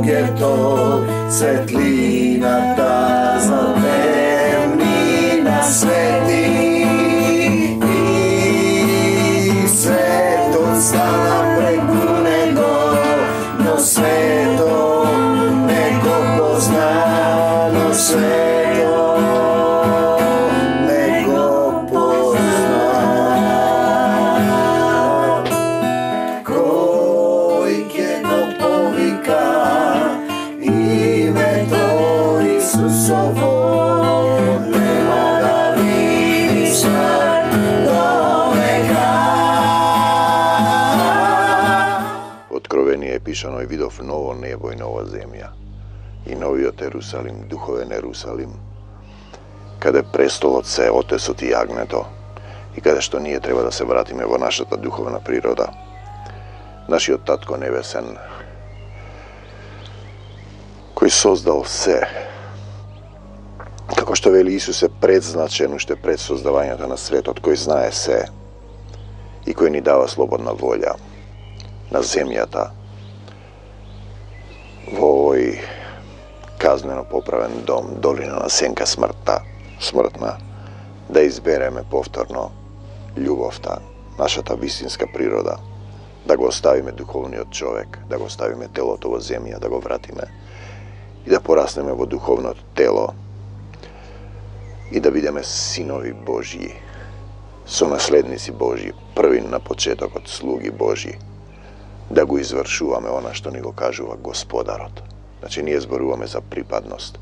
Ангето, светлината за темнина свети и светот стана преку него, но светот не го позна, но светот не го позна. Кој ќе го повика името Исусово, нема да види смрт до века. Откровение е пишано и видов ново небо и нова земја и новиот Ерусалим, духовен Ерусалим, каде престолот се Отецот и јагнето и каде што ние треба да се вратиме во нашата духовна природа. Нашиот Татко Небесен, кој создал се, како што вели Исус е предзначен уште пред создавањето на светот, кој знае се и кој ни дава слободна волја на земјата, во овој казнено поправен дом, долина на сенка смртна, да избереме повторно љубовта, нашата вистинска природа, да го оставиме духовниот човек, да го оставиме телото во земја, да го вратиме и да пораснеме во духовното тело и да бидеме синови Божји, сонаследници Божји, први на почетокот слуги Божји, да го извршуваме она што ни го кажува Господарот. Значи, ние зборуваме за припадност.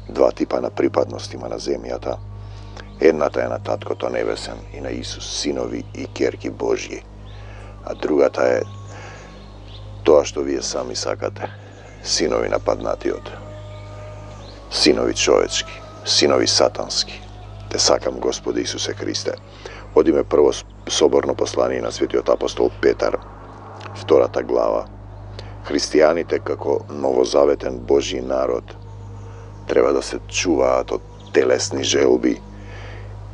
Два типа на припадност има на земјата. Едната е на Таткото Небесен и на Исус, синови и ќерки Божји. А другата е тоа што вие сами сакате. Синови на паднатиот. Синови човечки. Синови сатански. Те сакам, Господи Исусе Христе. Одиме прво соборно послание на светиот апостол Петар, 2 глава. Христијаните како новозаветен Божји народ треба да се чуваат од телесни желби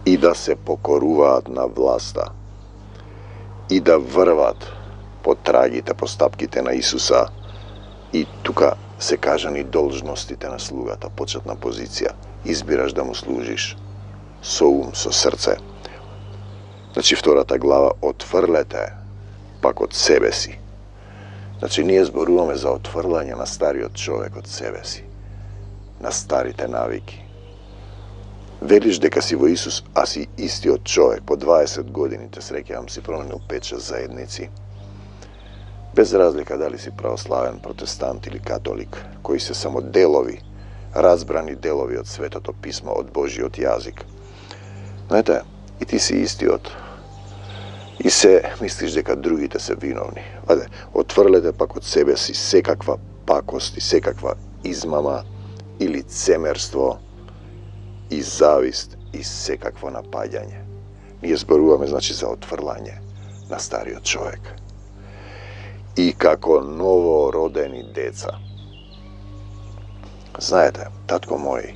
и да се покоруваат на власта и да врват по трагите, по стапките на Исуса. И тука се кажани должностите на слугата, почетна позиција. Избираш да му служиш со ум, со срце. Значи, 2 глава, отфрлете пак од себе си. Значи, ние зборуваме за отфрлање на стариот човек од себе си, на старите навики. Велиш дека си во Исус, а си истиот човек. По 20 години те среќавам си променил 5-6 заедници. Без разлика дали си православен, протестант или католик, кои се само делови, разбрани делови од Светото писмо, од Божиот јазик. Знаете, и ти си истиот. И се мислиш дека другите се виновни. Ајде, отврлете пак од себе си секаква пакост и секаква измама и лицемерство и завист и секакво напаѓање. Ние зборуваме, значи, за отврлање на стариот човек. И како новородени деца. Знаете, татко мој,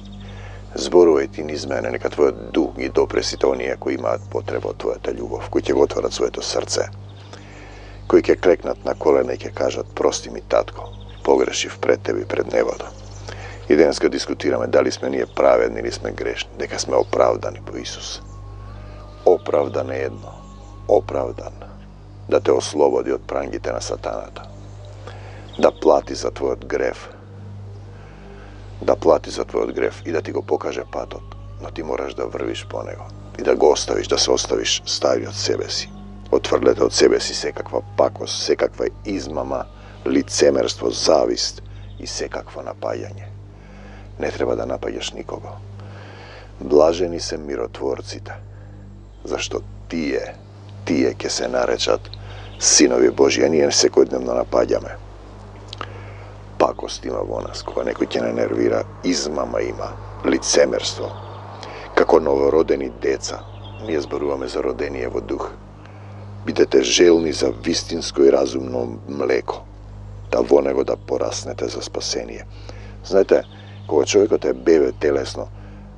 зборувај ти низ мене, нека твојот дух ги допре сите оние кои имаат потреба од твојата љубов, кои ќе го отворат своето срце, кои ќе клекнат на колена и ќе кажат: прости ми, татко, погрешив пред тебе и пред небото. И денеска дискутираме дали сме ние праведни или сме грешни, дека сме оправдани по Исус. Оправдан е едно, оправдан, да те ослободи од прангите на сатаната, да плати за твојот грев, и да ти го покаже патот, но ти мораш да врвиш по него и да го оставиш, да се оставиш стариот себе си. Отврлете од себе си секаква пакост, секаква измама, лицемерство, завист и секакво напаѓање. Не треба да напаѓаш никого. Блажени се миротворците, зашто тие ќе се наречат синови Божји, а ние секојдневно напаѓаме. Пакост има во нас, кога некој ќе не нервира, измама има, лицемерство. Како новородени деца, ние зборуваме за родение во дух. Бидете желни за вистинско и разумно млеко, да во него да пораснете за спасение. Знаете, кога човекот е бебе телесно,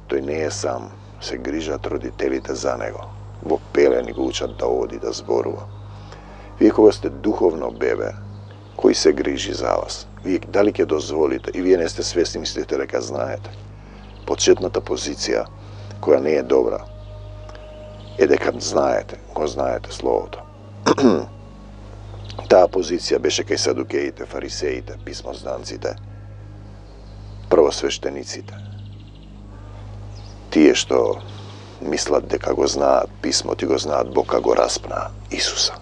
тој не е сам, се грижат родителите за него. Во пелени го учат да оди, да зборува. Вие кога сте духовно бебе, кој се грижи за вас. Вие дали ќе дозволите, и вие не сте свесни, мислите дека знаете. Почетната позиција, која не е добра, е дека знаете, го знаете Словото. Таа позиција беше кај садукеите, фарисеите, писмозданците, првосвештениците. Тие што мислат дека го знаат писмото и го знаат Бог, а го распнаа Исуса.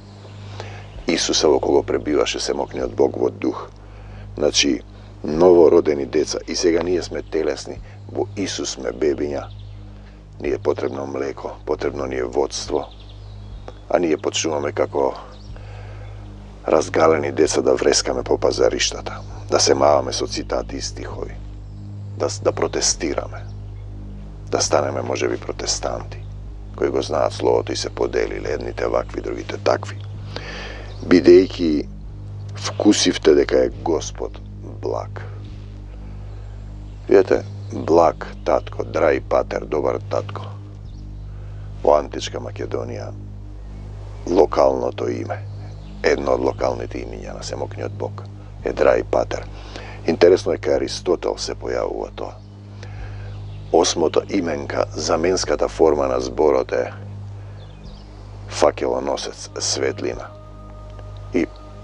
Исуса во кого пребиваше семокниот Бог во дух. Значи, новородени деца, и сега ние сме телесни, во Исус сме бебиња. Ние е потребно млеко, потребно ни е водство, а ние почнуваме како разгалени деца да врескаме по пазариштата, да се маваме со цитати и стихови, да протестираме, да станеме можеби протестанти, кои го знаат Словото и се поделиле, едните вакви, другите такви. Бидејќи вкусивте дека е Господ благ. Видете, благ татко, драј патер, добар татко. Во античка Македонија локалното име, едно од локалните имиња на семокниот Бог е драј патер. Интересно е кај Аристотел се појавува тоа. Осмото именка, заменската форма на зборот е факелоносец, светлина.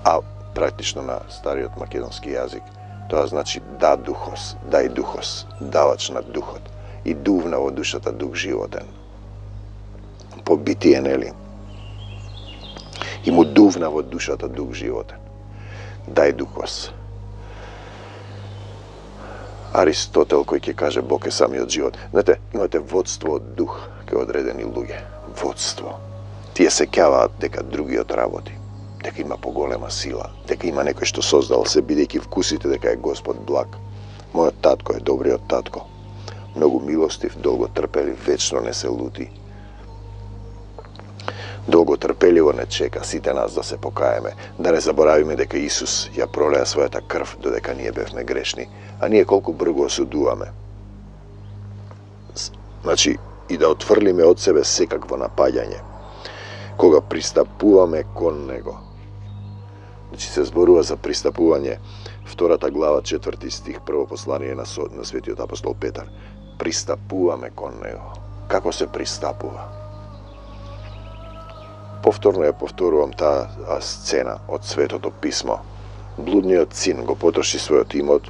А практично на стариот македонски јазик тоа значи да духос, дај духос, давач на духот, и дувна во душата дух животен. По битие, нели? И му дувна во душата дух животен. Дај духос. Аристотел кој ќе каже Бог е самиот живот. Знаете, имате водство од дух кај одредени луѓе. Водство. Тие се ќаваат дека другиот работи, дека има поголема сила, дека има некој што создал се, бидејќи вкусите дека е Господ благ. Мојот татко е добриот татко. Многу милостив, долго трпелив, вечно не се лути. Долго трпеливо не чека сите нас да се покаеме, да не заборавиме дека Исус ја пролеа својата крв додека ние бевме грешни, а ние колку брзо осудуваме. Значи, и да отфрлиме од себе секакво напаѓање, кога пристапуваме кон Него. Значи се зборува за пристапување, 2 глава, 4 стих, прво послание на светиот апостол Петар. Пристапуваме кон Него. Како се пристапува? Повторно ја повторувам таа сцена од Светото писмо. Блудниот син го потроши својот имот,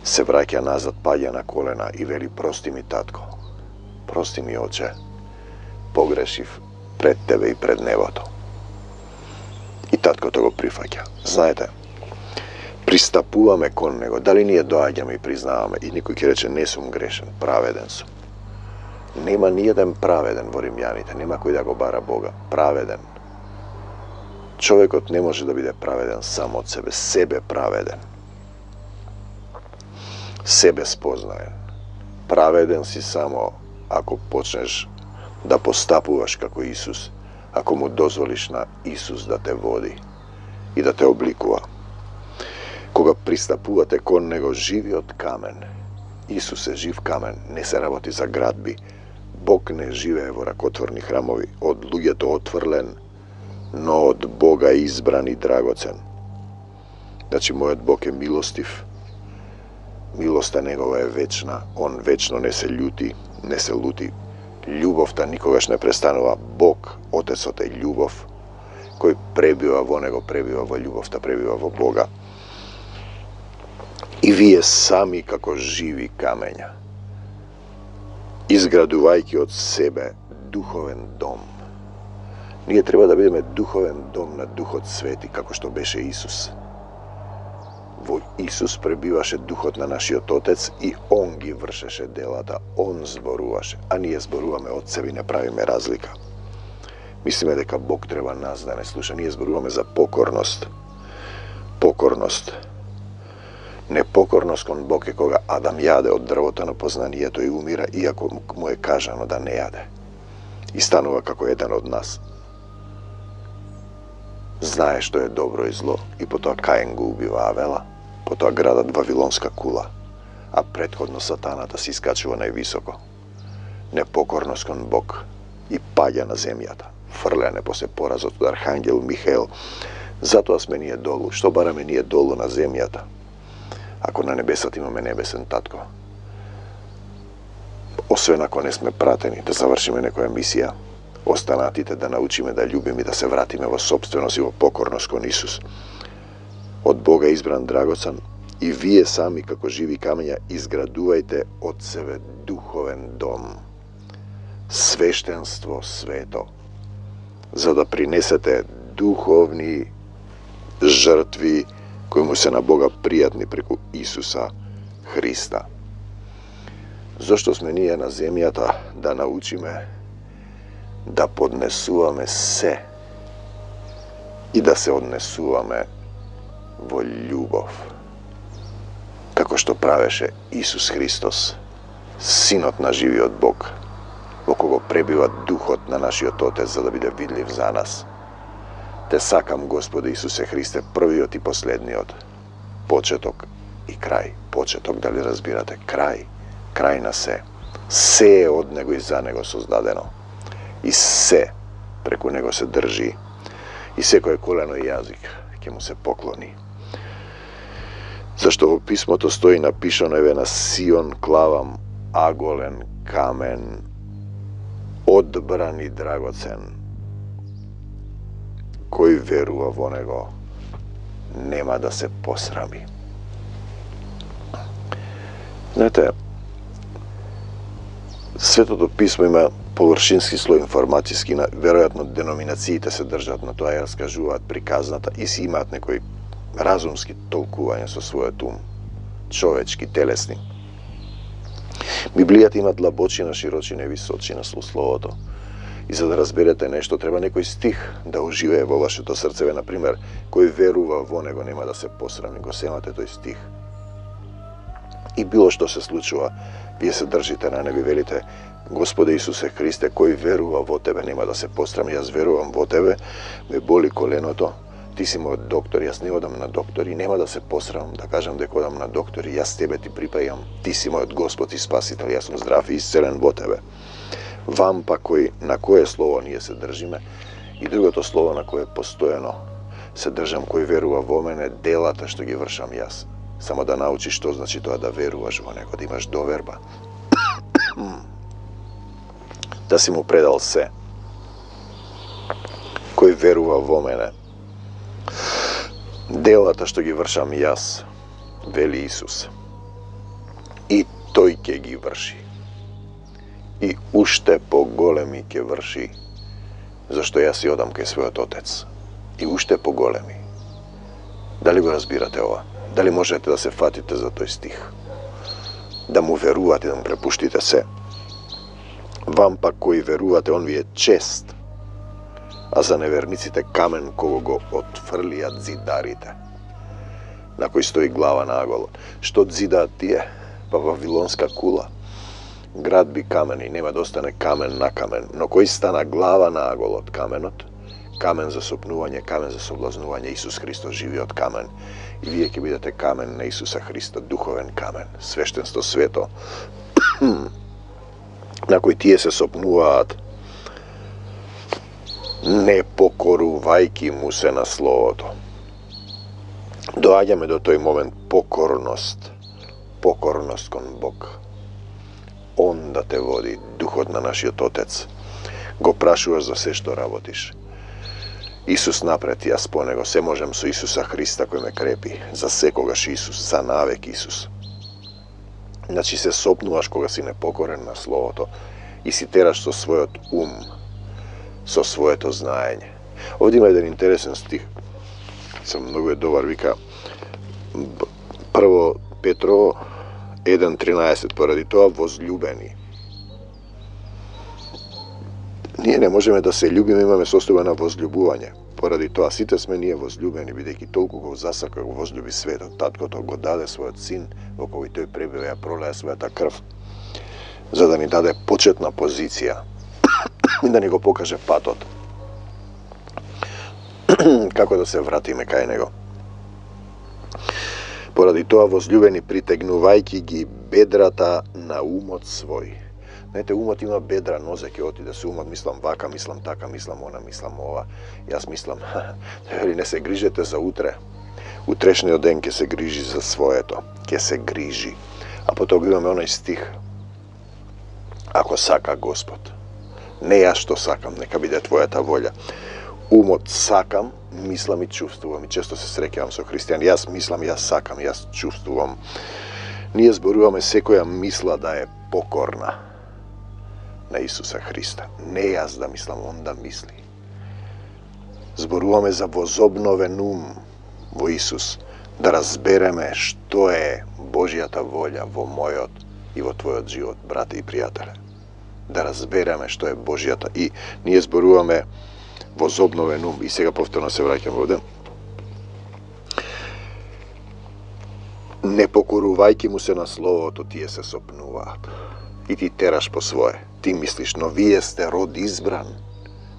се враќа назад, паѓа на колена и вели: прости ми, татко, прости ми, оче, погрешив пред тебе и пред небото. И таткото го прифаќа. Знаете, пристапуваме кон Него. Дали ние доаѓаме и признаваме, и никој ќе рече не сум грешен, праведен сум. Нема ниеден праведен во Римјаните, нема кој да го бара Бога. Праведен. Човекот не може да биде праведен само од себе праведен. Себе спознаен. Праведен си само ако почнеш да постапуваш како Исус, ако му дозволиш на Исус да те води и да те обликува. Кога пристапувате кон Него живиот камен, Исус е жив камен, не се работи за градби. Бог не живее во ракотворни храмови, од луѓето отврлен, но од Бога избран и драгоцен. Значи, мојот Бог е милостив, милоста Негова е вечна, Он вечно не се лути, љубовта никогаш не престанува. Бог, Отецот е љубов, кој пребива во Него, пребива во љубовта, пребива во Бога. И вие сами како живи камења, изградувајќи од себе духовен дом. Ние треба да бидеме духовен дом на Духот Свети, како што беше Исус. Во Исус пребиваше Духот на нашиот Отец и Он ги вршеше делата, Он зборуваше, а ние зборуваме од себе и не правиме разлика. Мислиме дека Бог треба нас да не слуша, ние зборуваме за покорност. Покорност. Непокорност кон Бог е кога Адам јаде од дрвото на познанието и умира, иако му е кажано да не јаде. И станува како еден од нас. Знае што е добро и зло, и потоа Каин го убива Авела, потоа градат Вавилонска кула, а претходно сатаната се искачува највисоко. Непокорност кон Бог и паѓа на земјата. Фрляне после поразот од Архангел Михаел Затоа сме ние долу. Што бараме ние долу на земјата? Ако на небесата имаме небесен татко. Освен ако не сме пратени да завршиме некоја мисија, останатите да научиме да љубиме и да се вратиме во собственост и во покорност кон Исус. Од Бога избран драгоцен, и вие сами како живи камења изградувајте од себе духовен дом, свештенство свето, за да принесете духовни жртви кои му се на Бога пријатни преку Исуса Христа. Зошто сме ние на земјата? Да научиме да поднесуваме се и да се однесуваме во љубов, како што правеше Исус Христос, Синот на живиот Бог, во кого пребива Духот на нашиот Отец за да биде видлив за нас. Те сакам, Господи Исусе Христе, првиот и последниот, почеток и крај. Почеток, дали разбирате? Крај на се. Се е од Него и за Него создадено. И се преку Него се држи. И секој колено и јазик ќе му се поклони. Зашто во писмото стои напишано: еве на Сион клавам аголен камен, одбран и драгоцен. Кој верува во Него нема да се посрами. Знаете, Светото писмо има површински слој информацијски, веројатно деноминациите се држат на тоа, ја раскажуваат приказната и си имаат некои разумски толкување со својот ум, човечки, телесни. Библијата има длабочина, широчина и височина со словото. И за да разберете нешто, треба некој стих да оживее во вашето срцеве. Например, кој верува во Него нема да се посрами. Го семате тој стих. И било што се случува, вие се држите на небе, велите: Господе Исусе Христе, кој верува во Тебе нема да се посрами. Јас верувам во Тебе, ме боли коленото, Ти си мојот доктор, јас не одам на доктори, нема да се посрамам да кажам дека одам на доктори, јас Тебе Ти припајам, Ти си мојот Господ и Спасител, јас сум здрав и исцелен во Тебе. Вам па на кое слово ние се држиме, и другото слово на кое постојано се држам, кој верува во мене, делата што ги вршам јас. Само да научиш што значи тоа да веруваш во Него, да имаш доверба. Да си му предал се. Кој верува во мене, делата што ги вршам јас, вели Исус, и тој ќе ги врши. И уште поголеми ќе врши, зашто јас си одам кај својот Отец. И уште поголеми. Дали го разбирате ова? Дали можете да се фатите за тој стих? Да му верувате, да му препуштите се? Вам пак кои верувате, он ви е чест, а за неверниците камен кого го отфрлијат зидарите, на кој стои глава на аголот. Што зидаат тие? Па Вавилонска кула. Град би камен и нема да остане камен на камен, но кој стана глава на аголот, каменот, камен за сопнување, камен за соблазнување, Исус Христос, живиот камен. И вие ќе бидете камен на Исуса Христа, духовен камен, свештенство свето, на кој тие се сопнуваат, не покорувајки му се на Словото. Доаѓаме до тој момент покорност кон Бог. Он да те води, Духот на нашиот Отец. Го прашуваш за се што работиш. Исус напред, јас по Него, се можем со Исуса Христа кој ме крепи. За секогаш Исус, за навек Исус. Значи се сопнуваш кога си непокорен на Словото и си тераш со својот ум, со своето знаење. Овде има еден интересен стих, сам многу е добар, вика прво Петрово 1.13, поради тоа возлюбени. Ние не можеме да се љубиме, имаме состојба на возлюбување. Поради тоа сите сме ние возлюбени, бидејќи толку го засака, го возлюби светот. Таткото го даде својот син, во кој тој пребива, ја пролеа својата крв, за да ни даде почетна позиција и да ни го покаже патот. Како да се вратиме кај Него. Поради тоа, возлюбени, притегнувајќи ги бедрата на умот свој, Знаете, умот има бедра, нозе ќе отиде со умот, мислам вака, мислам така, мислам она, мислам ова. Јас мислам, не се грижете за утре. Утрешниот ден ќе се грижи за своето, ќе се грижи. А потоа имаме оној стих: ако сака Господ, не јас што сакам, нека биде твојата волја. Умот сакам, мислам и чувствувам. И често се среќавам со христијани. Јас мислам, јас сакам, јас чувствувам. Ние зборуваме секоја мисла да е покорна на Исуса Христа. Не јас да мислам, он да мисли. Зборуваме за возобновен ум во Исус, да разбереме што е Божјата волја во мојот и во твојот живот, брате и пријателе. Да разбереме што е Божјата. И ние зборуваме возобновен ум. И сега повторно се враќам овде. Не покорувајќи му се на словото, тие се сопнуваат. И ти тераш по свое. Ти мислиш, но вие сте род избран.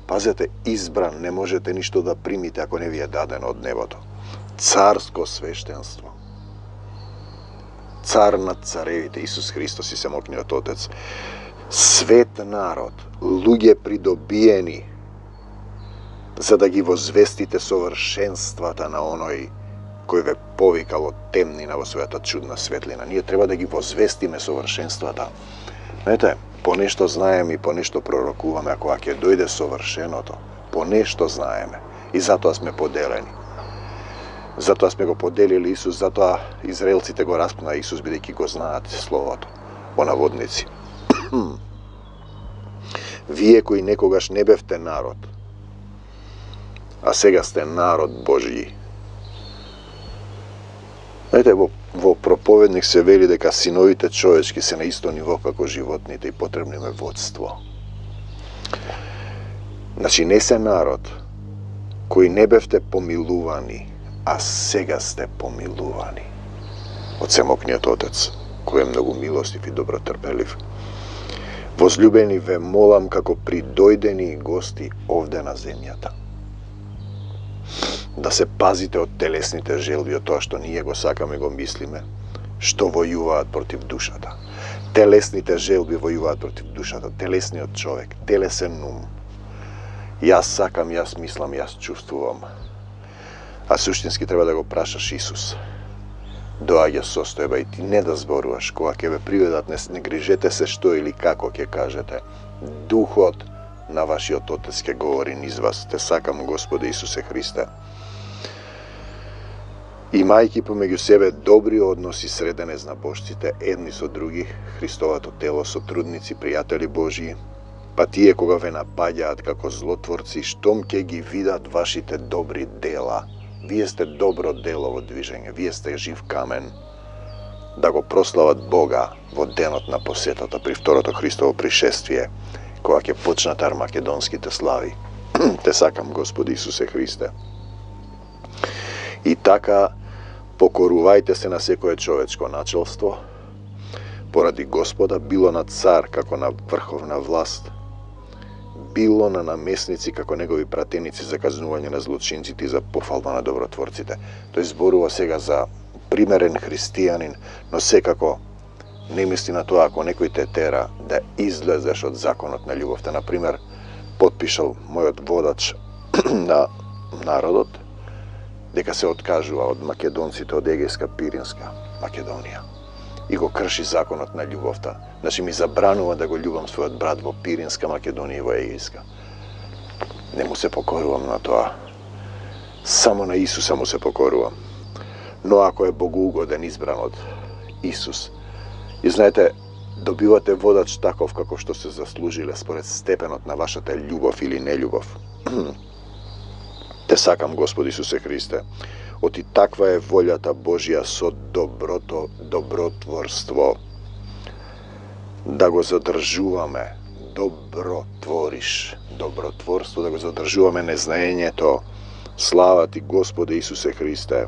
Пазете, избран, не можете ништо да примите ако не ви е дадено од небото. Царско свештенство. Цар над царевите, Исус Христос и Семокниот Отец. Свет народ, луѓе придобиени, за да ги возвестите совршенствата на оној кој ве повикал од темнина во својата чудна светлина. Ние треба да ги возвестиме совршенствата. Знаете, по нешто знаеме и по нешто пророкуваме, ако ќе дојде совршеното, по нешто знаеме. И затоа сме поделени. Затоа сме го поделили Исус, затоа израелците го распнаа Исус, бидејќи го знаат Словото, по наводници. Вие кои некогаш не бевте народ, а сега сте народ Божји. Знаете, во проповедник се вели дека синовите човечки се на исто ниво како животните и потребно им е водство. Значи, не се народ кои не бевте помилувани, а сега сте помилувани од Семокниот Отец, кој е многу милостив и добротрпелив. Возлюбени, ве молам како придојдени гости овде на земјата, да се пазите од телесните желби, од тоа што ние го сакаме и го мислиме, што војуваат против душата. Телесните желби војуваат против душата, телесниот човек, телесен ум. Јас сакам, јас мислам, јас чувствувам. А суштински треба да го прашаш Исус. Доаѓа состојба и ти не да зборуваш, кога ќе ве приведат, не грижете се што или како ќе кажете. Духот на вашиот Отец ќе говори низ вас. Те сакам, Господе Исусе Христе. Имајќи помеѓу себе добри односи среде незнабожците, едни со други, Христовото тело, сотрудници, пријатели Божии, па тие кога ве напаѓаат како злотворци, штом ќе ги видат вашите добри дела, вие сте добро дело во движење, вие сте жив камен, да го прослават Бога во денот на посетата при второто Христово пришествие, кога ќе почнат армакедонските слави. Те сакам, Господи Исусе Христе. И така, покорувајте се на секое човечко начелство, поради Господа, било на цар како на врховна власт, било на намесници како негови пратеници за казнување на злочинците и за пофалба на добротворците. Тој зборува сега за примерен христијанин, но секако не мисли на тоа ако некој те тера да излезеш од законот на љубовта. Например, потпишал мојот водач на народот дека се откажува од македонците од Егејска Пиринска Македонија и го крши законот на љубовта. Значи ми забранува да го љубам својот брат во Пиринска Македонија и во Егејска. Не му се покорувам на тоа. Само на Исуса му се покорувам. Но ако е богоугоден, избран од Исус, и знаете, добивате водач таков како што се заслужиле според степенот на вашата љубов или нељубов. Те сакам, Господи Исусе Христе, оти таква е волјата Божја со добротворство, да го задржуваме, добротвориш, добротворство, да го задржуваме незнаењето. Слава ти, Господи Исусе Христе,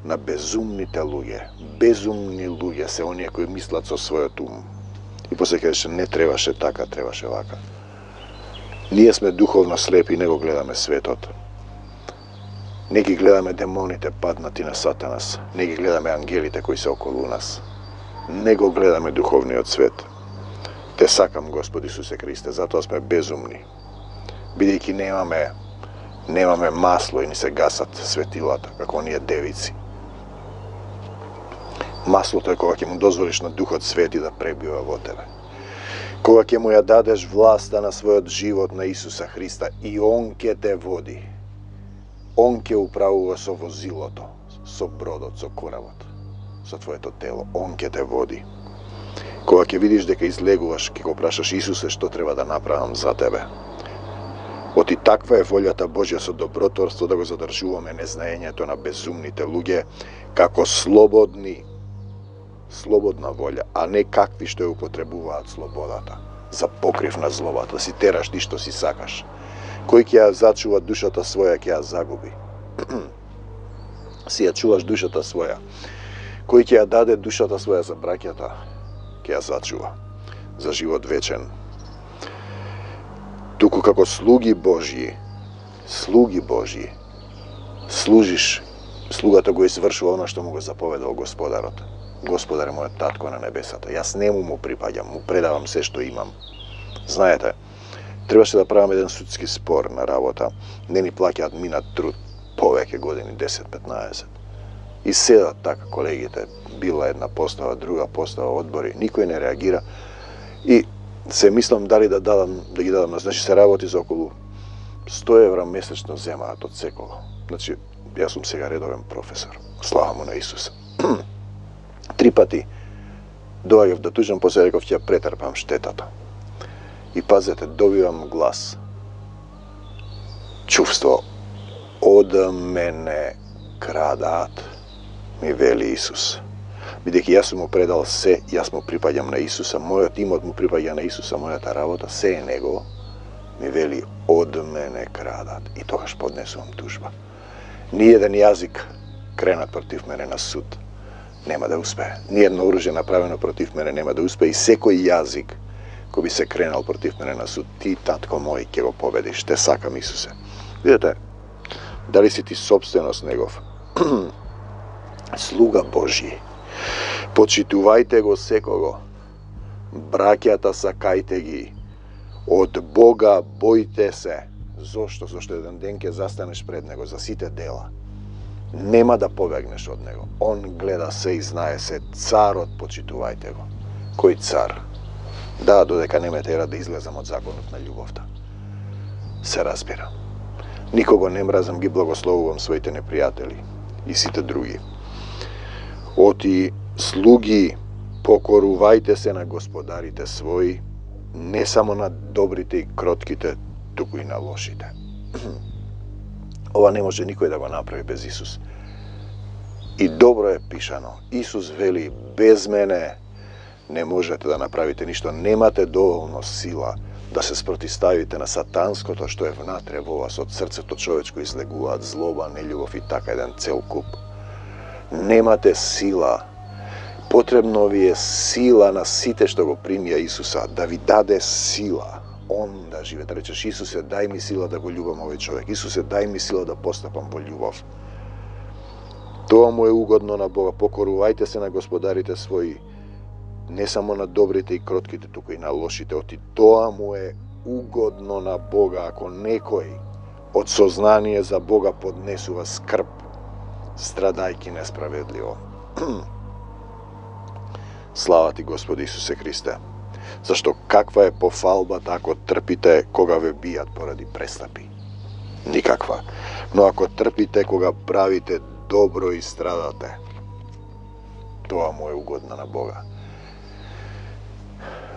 на безумните луѓе. Безумни луѓе се оние кои мислат со својот ум. И после кажеше, не требаше така, требаше вака. Ние сме духовно слепи и не го гледаме светот. Не ги гледаме демоните паднати на Сатанас. Не ги гледаме ангелите кои се околу нас. Не го гледаме духовниот свет. Те сакам, Господи Исусе Христе, затоа сме безумни. Бидејќи немаме масло и ни се гасат светилата, како оние девици. Маслото е кога ќе му дозволиш на Духот Свети да пребива во тебе. Кога ќе му ја дадеш власта на својот живот на Исуса Христа и Он ќе те води. Он ќе управува со возилото, со бродот, со коравот, со твоето тело. Он ќе те води. Кога ќе видиш дека излегуваш, ќе го прашаш Исусе што треба да направам за тебе. Оти таква е волјата Божја со добротворство да го задржуваме незнаењето на безумните луѓе како слободна волја, а не какви што ја употребуваат слободата за покрив на злобата, да си тераш ти што си сакаш. Кој ќе ја зачува душата своја, ќе ја загуби. Си ја чуваш душата своја. Кој ќе ја даде душата своја за браќата, ќе ја зачува за живот вечен. Туку како слуги Божји, служиш, слугата го извршува она што му го заповедал Господарот. Господар е мојот татко на небесата. Јас нему му припаѓам, му предавам се што имам. Знаете, требаше да правам еден судски спор на работа. Не ни плаќаат минат труд повеќе години, 10-15. И седат така колегите, била една постава, друга постава, одбори, никој не реагира. И се мислам дали да ги дадам, значи се работи за околу 100 евра месечно земаат од секого. Значи, јас сум сега редовен професор. Слава му на Исуса. 3 пати доаѓав да тужам, после реков ќе претрпам штетата. И пазете, добивам глас. Чувство, од мене крадат, ми вели Исус. Бидејќи јас сум му предал се, јас му припаѓам на Исуса, мојот имот му припаѓа на Исуса, мојата работа, се е негово, ми вели од мене крадат. И тогаш поднесувам тужба. Ниеден јазик кренат против мене на суд нема да успее. Ниедно оружје направено против мене нема да успее и секој јазик кој би се кренал против мене на суд, ти, татко мој, ќе го победиш. Те сакам, Исусе. Видете, дали си ти собственост негов? Слуга Божји. Почитувајте го секого. Браќата сакајте ги. Од Бога бојте се. Зошто? Зошто еден ден ќе застанеш пред него за сите дела. Нема да побегнеш од него. Он гледа се и знае се. Царот почитувајте го. Кој цар? Да, додека не ме тера да излезам од законот на љубовта. Се разбира. Никого не мразам, ги благословувам своите непријатели и сите други. Оти слуги, покорувајте се на господарите своји, не само на добрите и кротките, туку и на лошите. Ова не може никој да го направи без Исус. И добро е пишано. Исус вели, без мене не можете да направите ништо. Немате доволно сила да се спротиставите на сатанското што е внатре во вас. Од срцето човечко излегуваат злоба, нељубов и така еден цел куп. Немате сила. Потребно ви е сила на сите што го примија Исуса, да ви даде сила. Он да живе, да речеш, Исусе, дај ми сила да го љубам овој човек. Исусе, дај ми сила да постапам во љубов. Тоа му е угодно на Бога. Покорувајте се на господарите своји, не само на добрите и кротките, туку и на лошите. Оти тоа му е угодно на Бога. Ако некој од сознание за Бога поднесува скрб, страдајки несправедливо. Слава ти, Господи Исусе Христе. Зашто каква е пофалбата ако трпите кога ве бијат поради престапи? Никаква. Но ако трпите кога правите добро и страдате, тоа му е угодно на Бога.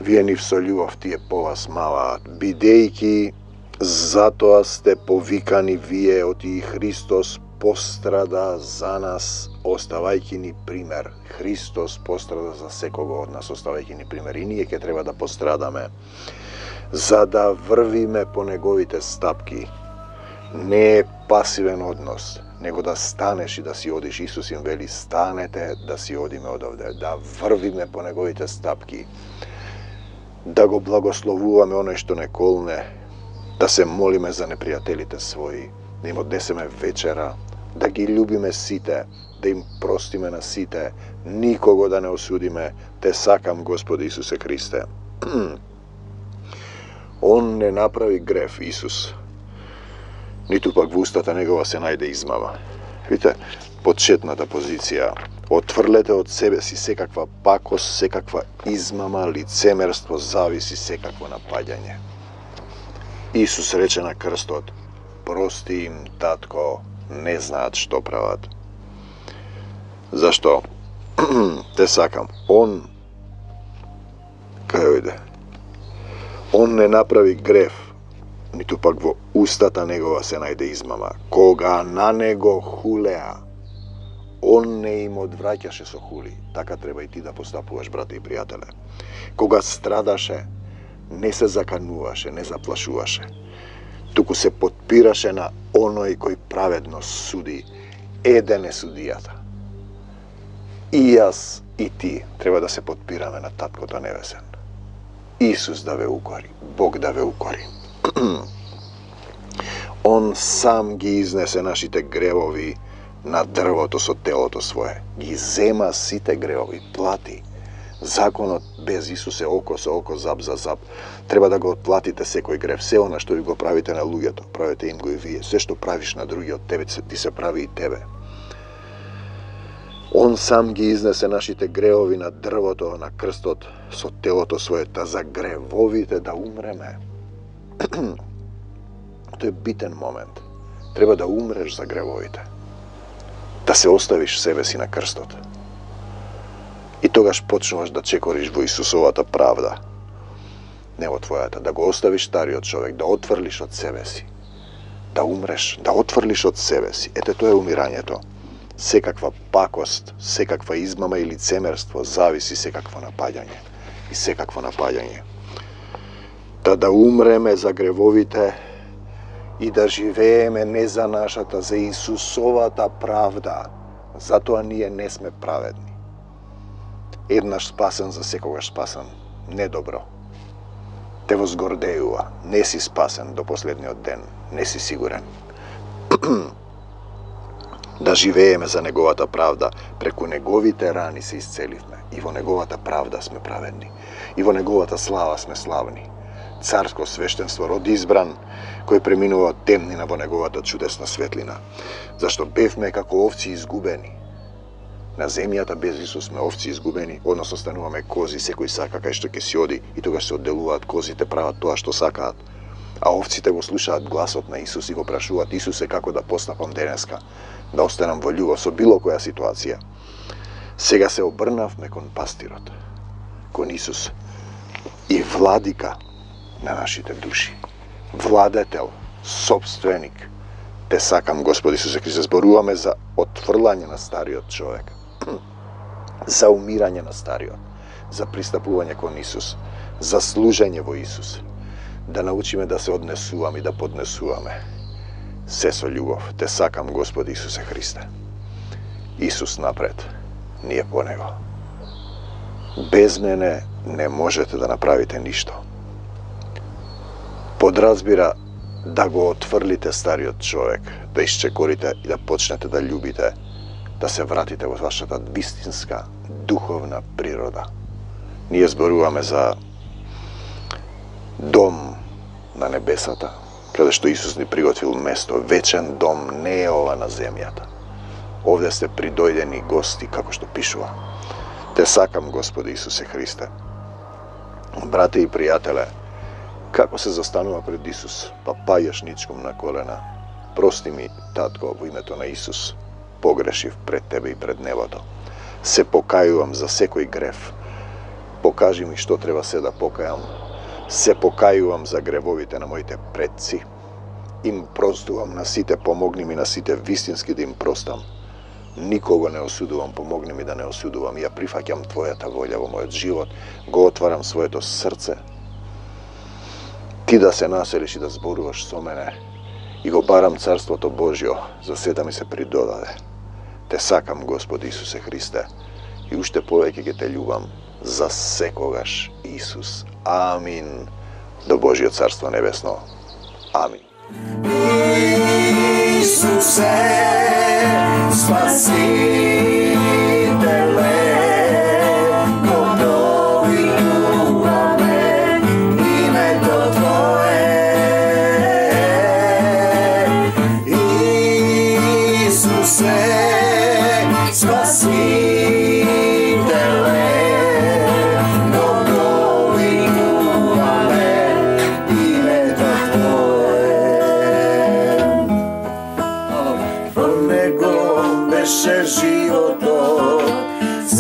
Вие нив со љубов тие по вас маваат, бидејќи затоа сте повикани вие, оти Христос пострада за нас, оставајќи ни пример. Христос пострада за секого од нас, оставајќи ни пример. И ние ќе треба да пострадаме, за да врвиме по неговите стапки. Не е пасивен однос, него да станеш и да си одиш. Исус им вели, станете да си одиме одовде, да врвиме по неговите стапки, да го благословуваме оној што не колне, да се молиме за непријателите своји, да им однесеме вечера, да ги љубиме сите, да им простиме на сите, никого да не осудиме. Те сакам, Господи Исусе Христе. Он не направи греф, Исус. Ниту пак во устата негова се најде измама. Видите, почетната позиција. Отврлете од себе си секаква пакост, секаква измама, лицемерство, зависи, секакво напаѓање. Исус рече на крстот: прости им, татко, не знаат што прават. Зашто? Те сакам. Он, кај ојде? Он не направи греф, ниту пак во устата негова се најде измама. Кога на него хулеа, он не им одвраќаше со хули. Така треба и ти да постапуваш, брате и пријателе. Кога страдаше, не се закануваше, не заплашуваше. Туку се потпираше на оној кој праведно суди. Еден е судијата. И јас, и ти треба да се потпираме на Таткото Небесен. Исус да ве укори, Бог да ве укори. Он сам ги изнесе нашите гревови на дрвото со телото свое. Ги зема сите гревови, плати. Законот без Исус е око со око, зап за зап. Треба да го отплатите секој грев. Се она што ви го правите на луѓето, правите им го и вие. Се што правиш на другиот, тебе ти се прави и тебе. Он сам ги изнесе нашите гревови на дрвото, на крстот, со телото свое, та за гревовите да умреме. Тоа е битен момент. Треба да умреш за гревовите. Да се оставиш себе си на крстот. И тогаш почнуваш да чекориш во Исусовата правда. Не во твојата. Да го оставиш стариот човек, да отврлиш од себе си. Да умреш, да отврлиш од себе си. Ете, тоа е умирањето. Секаква пакост, секаква измама и лицемерство, зависи, секакво напаѓање. И секакво напаѓање. Да умреме за гревовите и да живееме не за нашата, за Исусовата правда. Затоа ние не сме праведни. Еднаш спасен, за секогаш спасен. Не добро. Те возгордејува. Не си спасен до последниот ден. Не си сигурен. Да живееме за Неговата правда. Преку Неговите рани се исцеливме. И во Неговата правда сме праведни. И во Неговата слава сме славни. Царско свештенство, род избран, кој преминува од темнина во Неговата чудесна светлина. Зашто бевме како овци изгубени. На земјата без Исус сме овци изгубени, односно стануваме кози, секој сака кај што ќе си оди и тогаш се одделуваат козите, прават тоа што сакаат. А овците го слушаат гласот на Исус и го прашуваат: Исусе, како да постапам денеска, да останам во љубов со било која ситуација. Сега се обрнавме кон пастирот, кон Исус и владика на нашите души. Владетел, собственик. Те сакам, Господи Исусе Христе, зборуваме за отфрлање на стариот човек, за умирање на стариот, за пристапување кон Исус, за служење во Исус, да научиме да се однесуваме и да поднесуваме се со љубов. Те сакам, Господи Исусе Христе. Исус напред, ние по Него. Без мене не можете да направите ништо. Подразбира да го отфрлите стариот човек, да исчекорите и да почнете да љубите, да се вратите во вашата вистинска духовна природа. Ние зборуваме за дом на небесата, каде што Исус ни приготвил место. Вечен дом не е ова на земјата. Овде сте придојдени гости, како што пишува. Те сакам, Господи Исусе Христе. Брате и пријателе, како се застанува пред Исус, па паѓаш ничком на колена: прости ми, татко, во името на Исус, погрешив пред тебе и пред небото. Се покајувам за секој грев. Покажи ми што треба се да покајам. Се покајувам за гревовите на моите предци. Им простувам на сите, помогни ми на сите вистински да им простам. Никого не осудувам, помогни ми да не осудувам. Ја прифаќам Твојата волја во мојот живот, го отварам своето срце. Ти да се населиш и да зборуваш со мене и го барам Царството Божјо, за се да ми се придодаде. Те сакам, Господи Исусе Христе, и уште повеќе ќе те љубам за секогаш, Исус. Амин. До Божјо Царство Небесно. Амин. Исусе, Спасителе, го дојуваме името Твое.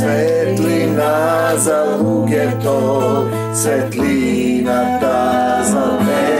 Светлина за луѓето, светлината за тебе.